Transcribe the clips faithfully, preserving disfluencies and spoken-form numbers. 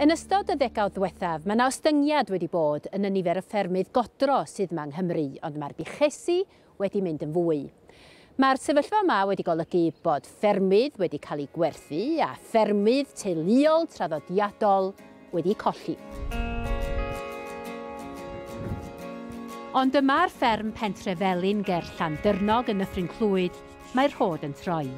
Yn ystod y ddegawd ddiwethaf, mae 'na ostyngiad wedi bod yn y nifer y ffermydd godro sydd yma yng Nghymru, ond mae'r buchesi wedi mynd yn fwy. Mae'r sefyllfa yma wedi golygu bod ffermydd wedi cael eu gwerthu a ffermydd teuluol traddodiadol wedi colli. Ond yma'r fferm Pentrefelin ger Llandyrnog yn Nyffryn Clwyd, mae'r rhod yn troi.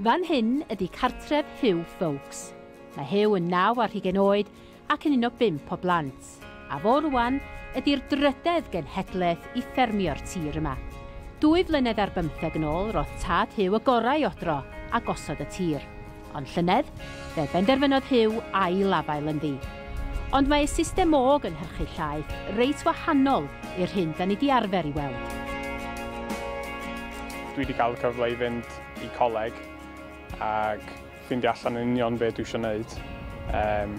Fan hyn ydy cartref Hugh Foulkes. Mae Hugh yn naw ar hugain oed ac yn un o bump o blant. A fo rwan ydy'r drydedd genhedlaeth i ffermio'r tir yma. Dwy flynedd ar bymtheg yn ôl, roedd tad Hugh y gorau i odro a gosod y tir. Ond llynedd, fe benderfynodd Hugh ail afael ynddi. Ond mae system o gynhyrchu llaeth reit wahanol i'r hyn da ni di arfer i weld. Dwi wedi cael y cyfle i fynd i coleg ac ffeindio allan yn union be dwi eisiau gwneud. Um,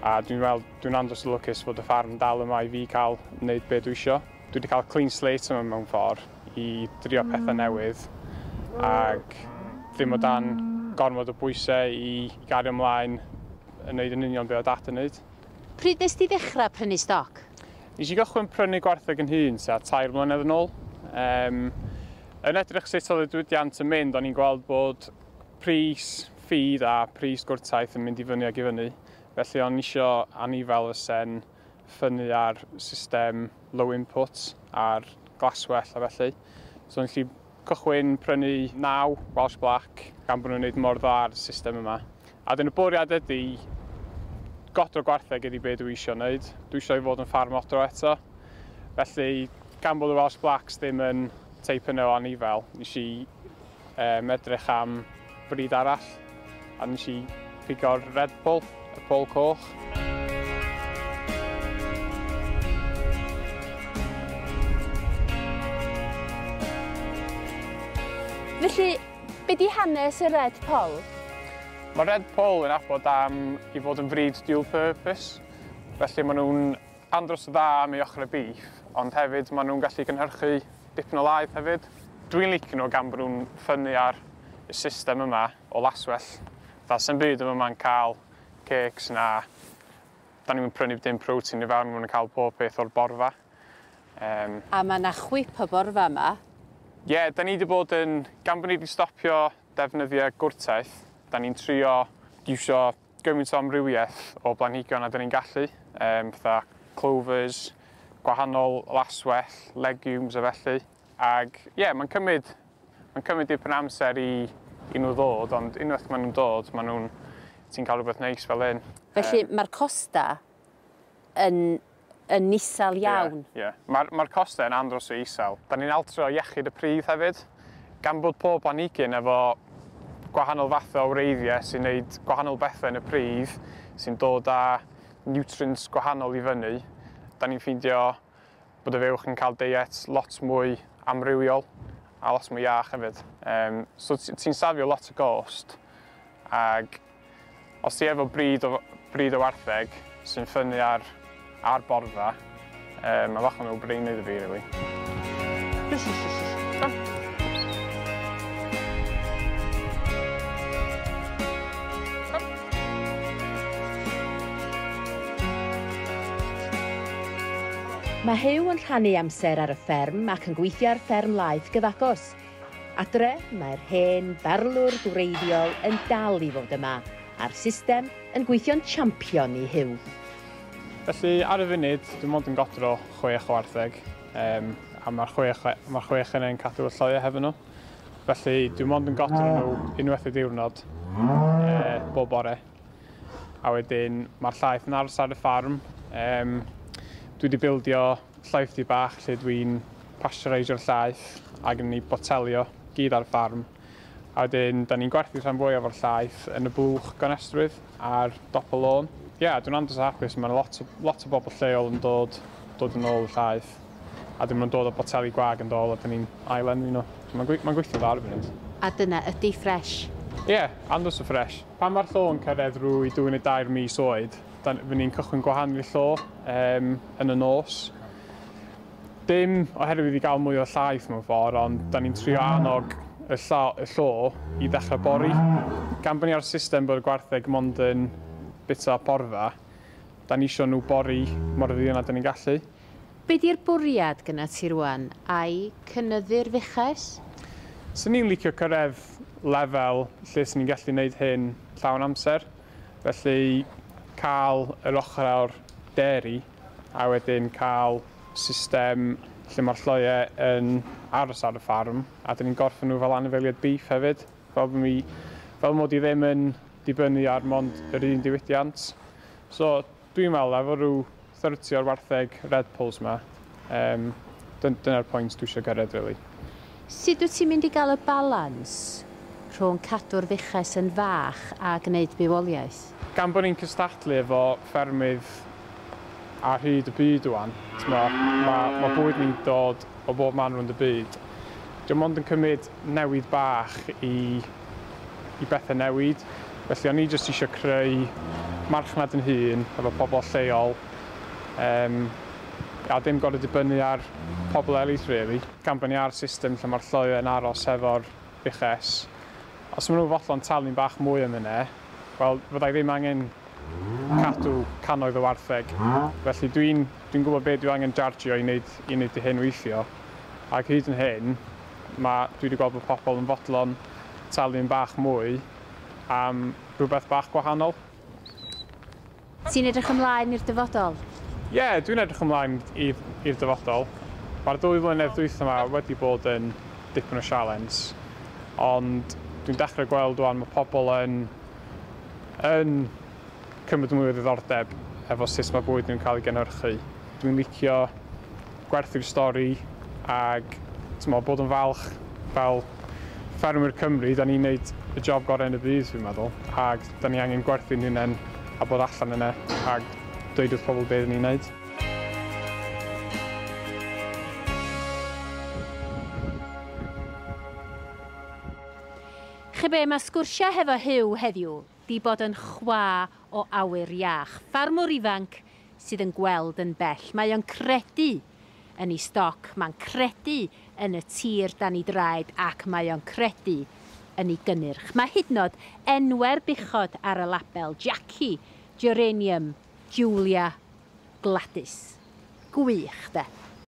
a dwi'n weld, dwi'n andros o lwcus fod y ffarm dal yma i fi cael wneud be dwi eisiau. Dwi wedi cael clean slate yma mewn ffordd i drio pethau newydd ac ddim o dan gormod o bwysau i gario ymlaen yn wneud yn union be oedd dad yn wneud. Pryd nes ti ddechrau prynu stoc? Nes i gychwyn prynu gwartheg yn hun tua tair mlynedd yn ôl. Um, yn edrych sut oedd y diwydiant yn mynd, o'n i'n gweld bod pris feed a pris gwrtaith yn mynd i fyny ac i fyny. Felly o'n isio anifel fyse'n ffynnu ar system low input a'r glaswellt a felly. So o'n gallu cychwyn prynu naw Welsh Black gan bod nhw'n gwneud mor dda ar y system yma. A dyna bwriad ydy godro gwartheg ydy be dwi eisiau wneud. Dwi eisiau i fod yn ffarm odro eto. Felly, gan bod y Welsh Blacks ddim yn teip yno o anifel, nes i um, edrych am bryd arall a nes i pigo'r Red Poll, y pol coch. Felly, be di hanes y Red Poll? Mae Red Poll yn abod am i fod yn frid dual purpose, felly maen nhw'n andros o dda am ei ochr y beef, ond hefyd maen nhw'n gallu cynhyrchu dipyn o laeth hefyd. Dwi'n licio nhw gan bod nhw'n ffynnu ar y system yma o laswellt. Fatha sy'n byd yma ma'n cael cakes na, da ni'n prynu dim protein i fewn, maen nhw'n cael pob peth o'r borfa. Um, a mae yna chwip o borfa yma? Ie, yeah, da ni wedi bod yn, gan bod ni wedi stopio defnyddio gwrtaith, da ni'n trio iwsio gymaint o amrywiaeth o blanhigion a da ni'n gallu, um, fatha clovers, gwahanol laswellt, legumes a felly. Ag ie, yeah, mae'n cymryd, mae'n cymryd dipyn amser i, i nhw ddod, ond unwaith maen nhw'n dod, maen nhw'n, ti'n cael rhywbeth neis fel hyn. Felly um, mae'r costa yn, yn isel iawn. Ie, yeah, yeah. Mae'r mae costa yn andros o isel. Da ni'n altro iechyd y pridd hefyd, gan bod pob planhigyn efo gwahanol fathau o wreiddiau sy'n gwneud gwahanol bethau yn y pridd, sy'n dod â nutrients gwahanol i fyny. Da ni'n ffeindio bod y fuwch yn cael diet lot mwy amrywiol a lot mwy iach hefyd. Um, so ti'n safio lot o gost, ag os ti efo bryd o, bryd o wartheg sy'n ffynnu ar, ar borfa, um, mae bach o'n no-brainer iddo fi, really. Mae Hugh yn rhannu amser ar y fferm ac yn gweithio ar fferm laeth gyfagos. Adre, mae'r hen barlwr gwreiddiol yn dal i fod yma, a'r system yn gweithio'n champion i Hugh. Felly, ar y funud, dwi'n mond yn godro chwech o wartheg, um, a mae'r chwech, mae'r chwech yna yn cadw y lloiau hefo nhw. Felly, dwi'n mond yn godro nhw unwaith y diwrnod, e, bob bore. A wedyn, mae'r llaeth yn aros ar y ffarm. Um, Dwi wedi bildio llaethdy bach lle dwi'n pasteureisio'r llaeth ac yn ei botelio gyd ar y ffarm. A wedyn, da ni'n gwerthu rhan fwyaf o'r llaeth yn y blwch gonestrwydd ar dop y lôn. Ie, yeah, dwi'n andros o hapus. Mae lot o, lot o bobl lleol yn dod, dod yn ôl y llaeth. A dyn nhw'n dod o boteli gwag yn dod a dyn ni'n ailenwi nhw. So mae'n gwe, gweithio dda ar y funud. A dyna ydy ffresh? Ie, yeah, andros o ffresh. Pan mae'r llo yn cyrraedd rwy dwy neu dair mis oed, fy ni'n cychwyn gwahanu'r llo um, yn y nos. Dim oherwydd i gael mwy o llaeth mewn ffordd, ond da ni'n trio annog y llo, y llo i ddechrau bori. Gan bod ni ar system bod y gwartheg mond yn bita porfa, da ni isio nhw bori mor fuan â da ni'n gallu. Be di'r bwriad gyna ti rwan? Ai cynyddu'r fuches? Swn i'n licio cyrraedd lefel lle swn i'n gallu gwneud hyn llawn amser. Felly cael yr ochr o'r dairy a wedyn cael system lle mae'r lloiau yn aros ar y ffarm a dyn ni'n gorffen nhw fel anifeiliaid beef hefyd. Fel, mi, fel mod i ddim yn dibynnu ar mond yr un diwydiant. So dwi'n meddwl efo rhyw thirty o'r wartheg Red Polls yma, um, dyna'r pwynt dwi eisiau gyrraedd, really. Sut wyt ti'n mynd i gael y balans rhwng cadw'r fuches yn fach a gwneud bywoliaeth? Gan bod ni'n cystadlu efo ffermydd ar hyd y byd ŵan, mae ma, ma bwyd ni'n dod o bob man rownd y byd. Dwi'n mond yn cymryd newid bach i, i bethau newid. Felly o'n i jyst eisiau creu marchnad yn hun efo pobl lleol, um, a dim gorfod dibynnu ar pobl eraill, really. Gan bod ni ar system lle mae'r lloiau yn aros efo'r fuches, os maen nhw fodlon talu'n bach mwy am hynny, wel, fyddai ddim angen cadw cannoedd o wartheg. Felly dwi'n dwi gwybod beth dwi angen jargio i wneud, i wneud i hyn weithio. Ac hyd yn hyn, ma, dwi wedi gweld bod pobl yn fodlon talu'n bach mwy am rhywbeth bach gwahanol. Ti'n edrych ymlaen i'r dyfodol? Ie, yeah, dwi'n edrych ymlaen i'r dyfodol. Mae'r dwy flynedd dwytha yma wedi bod yn dipyn o sialens, ond dwi'n dechrau gweld ŵan mae pobl yn, yn cymryd mwy o ddiddordeb efo sut mae bwyd nhw'n cael ei gynhyrchu. Dwi'n licio gwerthu'r stori ag t'mo, bod yn falch fel ffermwyr Cymru, da ni'n neud y job gorau yn y byd, dwi'n meddwl, ag da ni angen gwerthu'n hunain a bod allan yna ag dweud wrth pobl beth ni'n neud. Chi be, mae sgwrsiau hefo Huw heddiw di bod yn chwa o awyr iach. Ffarmwr ifanc sydd yn gweld yn bell. Mae o'n credu yn ei stoc, mae'n credu yn y tir dan ei draed ac mae o'n credu yn ei gynnyrch. Mae hyd yn oed enwe'r buchod ar y label: Jackie, Geranium, Julia, Gladys. Gwych, de.